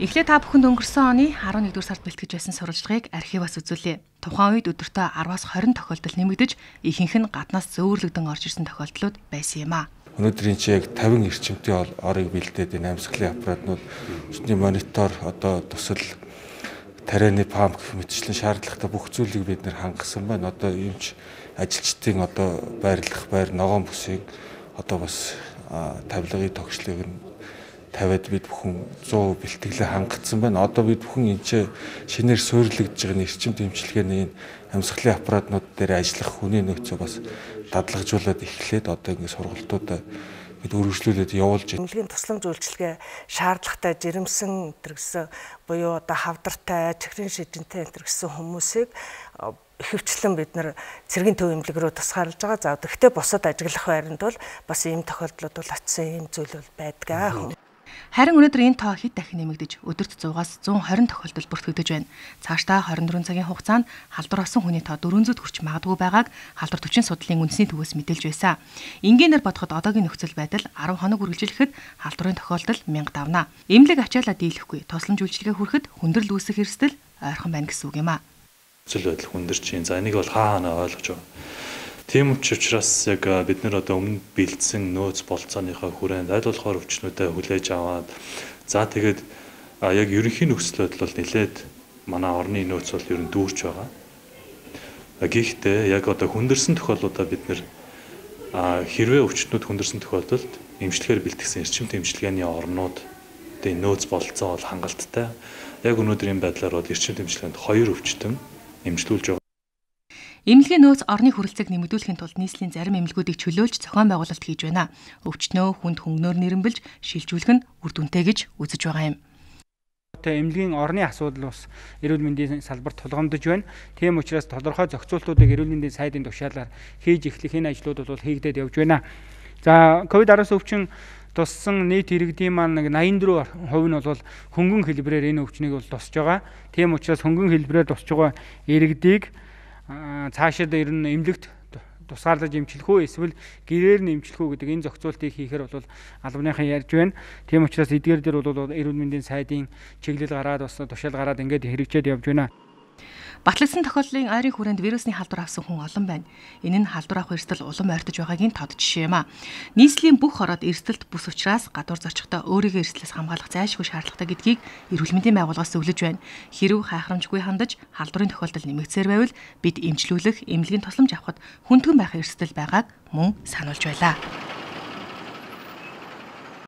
Эхлээд та бүхэнд өнгөрсөн оны 11-р сард бэлтгэж байсан сурвалжлагыг архиваас үзүүлье. Тухайн үед өдөртөө 10-аас 20 тохиолдол нэмэгдэж, ихэнх нь гаднаас зөөвөрлөгдөн орж ирсэн тохиолдлууд байсан юм а. Өнөөдрийн чи яг 50 эрчимтэй орыг бэлдээд энэ амьсгалын аппаратнууд өчний монитор одоо тусал тарианы памп гэх мэтчлэн шаардлагатай бүх зүйлийг бид нэр хангасан байна. Одоо юмч ажилчдын одоо байр ногоон бүсийг одоо бас тавилгын тогшлыг нь тавиад бид бүхэн 100 бэлтгэлээ хангацсан байна. Одоо бид бүхэн энэ шинээр суйрлагдж байгаа эрчим дэмжлэгээний энэ амьсгалын аппаратнууд дээр ажиллах хүний нөөцөө бас дадлагжуулаад эхлээд одоо ингэ сургалтуудаа бид өргөжлүүлээд явуулж байна. Эмнэлгийн тусламж үйлчилгээ шаардлагатай жирэмсэн гэсэн буюу одоо хавдартай, чихрийн шижинтэй гэсэн хүмүүсийг ихэвчлэн бид нар цэргийн төв эмнэлэг рүү тусгаарлаж байгаа. За гэхдээ бусад ажиглах байранд бол бас ийм тохиолдлууд бол очисон ийм зүйл бол байдаг. Харин өнөөдөр энэ тоо хэд дахин нэмэгдэж өдөрт 100-аас 120 тохиолдол бүртгэгдэж байна. Цаашдаа 24 цагийн хугацаанд халдвар болсон хүний тоо 400-д хүрч магадгүй байгааг халдвар төвчийн судлалын үндэсний төвөөс мэдээлж байсан. Энгийнээр бодоход одоогийн нөхцөл байдал 10 хоног үргэлжилэхэд халдварын тохиолдол 1000 давна. Эмнэлэг ачаалаа дийлэхгүй тусламж үйлчилгээ хүрэхэд хүндрэл үүсэх эрсдэл ойрхон байна гэсэн үг юм а. Нөхцөл байдал хүндэрч байна. За энийг бол хаана ойлгож байна. Тийм учраас яг бид нэр одоо өмнө бэлдсэн нөөц болцооныхоо хүрээнд аль болохоор өвчнүүдэд хүлээж аваад за тэгээд яг ерөнхий нөхцөл байдал бол нэлээд манай орны нөөц бол ер нь дүүрч байгаа. Гэхдээ яг одоо хүндэрсэн тохиолдлуудаа бид нэр хэрвээ өвчнүүд хүндэрсэн тохиолдолд эмчилгээгээр бэлтгэсэн эрчим дэмжлэгээний орнуудын нөөц болцоо бол хангалттай. Яг өнөөдрийн байдлаар бол эрчим дэмжлэгээнд 2 өвчтөн эмчилүүлж байгаа. Эмнэлгийн нөөц орны хүрэлцээг нэмэгдүүлэхийн тулд нийслэлийн зарим эмнэлгүүдийг чөлөөлж зохион байгуулалт хийж байна. Өвчтнөө хүнд хөнгөнөөр нэрэмбэлж шилжүүлэх нь үр дүнтэй гэж үзэж байгаа юм. Эмнэлгийн орны асуудал бас эрүүл мэндийн салбарт тулгамдж байна. Тийм учраас тодорхой зохицуултуудыг эрүүл мэндийн сайдын тушаалаар хийж эхлэх энэ ажлууд бол хийгдээд явж байна. За COVID-19 өвчин туссан нийт иргэдийн маань 84% нь бол хөнгөн хэлбэрээр энэ өвчнийг бол тусж байгаа. Тийм учраас хөнгөн хэлбэрээр тусж байгаа иргэдийг цаашид ер нь эмнэлэгт тусгаарлаж эмчлэх үү эсвэл гэрээр нь эмчлэх үү гэдэг энэ зохицуултыг хийхээр бол албаныхан ярьж байна. Тийм учраас эдгээр дээр бол эрүүл мэндийн сайдын чиглэл гараад бас тушаал гараад ингээд хэрэгжээд явж байна. Батлагдсан тохиолдлын ойрын хүрээнд вирусны халдвар авсан хүн олон байна. Энэ нь халдвар авах эрсдэл улам ойртож байгаагийн тод жишээ юм а. Нийслэлийн бүх ороод эрсдэлт бус учраас гадуур зорчихтой өөрийгөө эрсдлээс хамгаалах зайлшгүй шаардлагатай гэдгийг эрүүл мэндийн байгууллагаас зөвлөж байна. Хэрв хайхрамжгүй хандаж халдварын тохиолдол нэмэгдсээр байвал бид эмчлүүлэх, эмнэлгийн тусламж авахд хүндгэн байх эрсдэл байгааг мөн сануулж байлаа.